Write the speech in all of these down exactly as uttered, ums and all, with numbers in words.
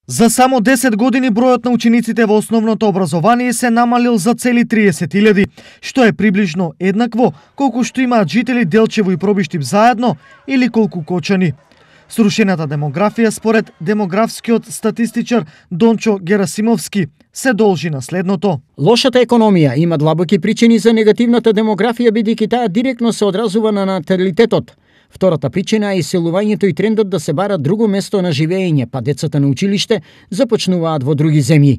За само десет години бројот на учениците во основното образование се намалил за цели триесет илјади, што е приближно еднакво колку што имаат жители Делчево и Пробиштип заедно или колку Кочани. Срушената демографија според демографскиот статистичар Дончо Герасимовски се должи на следното. Лошата економија има длабоки причини за негативната демографија бидејќи таа директно се одразува на наталитетот. Втората причина е иселувањето и трендот да се бара друго место на живење, па децата на училиште започнуваат во други земји.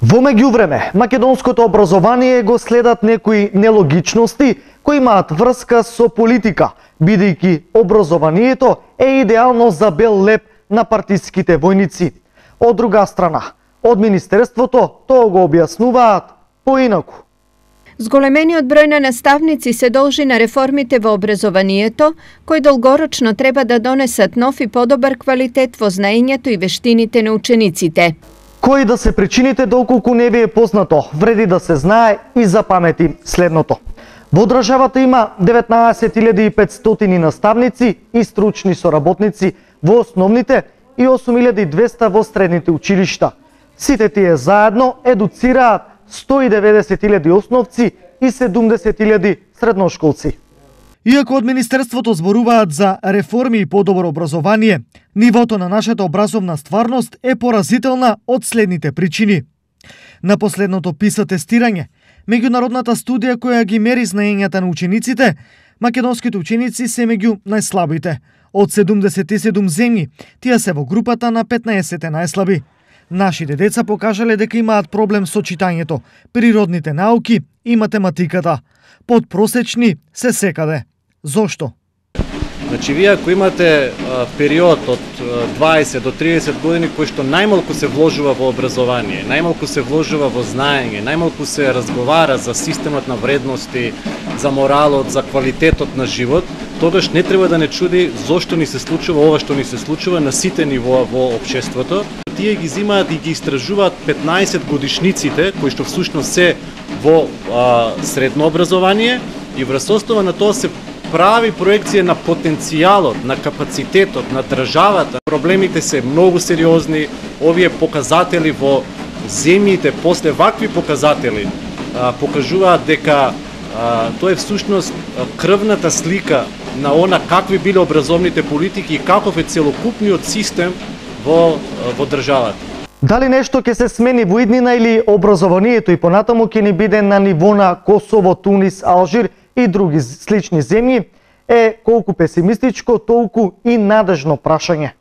Во меѓувреме, македонското образование го следат некои нелогичности кои имаат врска со политика, бидејќи образованието е идеално за бел леп на партиските војници. Од друга страна, од Министерството тоа го објаснуваат поинаку. Зголемениот број на наставници се должи на реформите во образованието, кои долгорочно треба да донесат нов и подобар квалитет во знаењето и вештините на учениците. Кои да се причините доколку не ви е познато, вреди да се знае и запамети следното. Во државата има деветнаесет илјади и петстотини наставници и стручни соработници во основните и осум илјади и двесте во средните училишта. Сите тие заедно едуцираат сто и деветдесет илјади основци и седумдесет илјади средношколци. Иако од Министерството зборуваат за реформи и подобро образование, нивото на нашата образовна стварност е поразителна од следните причини. На последното ПИСА тестирање, меѓународната студија која ги мери знаењата на учениците, македонските ученици се меѓу најслабите. Од седумдесет и седум земји, тие се во групата на петнаесет најслаби. Нашите деца покажале дека имаат проблем со читањето, природните науки и математиката. Подпросечни се секаде. Зошто? Значи, вие ако имате а, период од дваесет до триесет години кој што најмалку се вложува во образование, најмалку се вложува во знаење, најмалку се разговара за системот на вредности, за моралот, за квалитетот на живот, тогаш не треба да не чуди зошто ни се случува ова што ни се случува на сите нивоа во општеството. Тие ги зимаат и ги истражуваат петнаесет годишниците, кои што всушност се во а, средно образование, и врз основа на тоа се прави проекција на потенцијалот, на капацитетот, на државата. Проблемите се многу сериозни. Овие показатели во земјите, после вакви показатели, а, покажуваат дека а, тоа е всушност крвната слика на она какви биле образовните политики и каков е целокупниот систем во, во државата. Дали нешто ќе се смени во иднина или образованието и понатаму ќе ни биде на ниво на Косово, Тунис, Алжир и други слични земји, е колку песимистичко, толку и надежно прашање.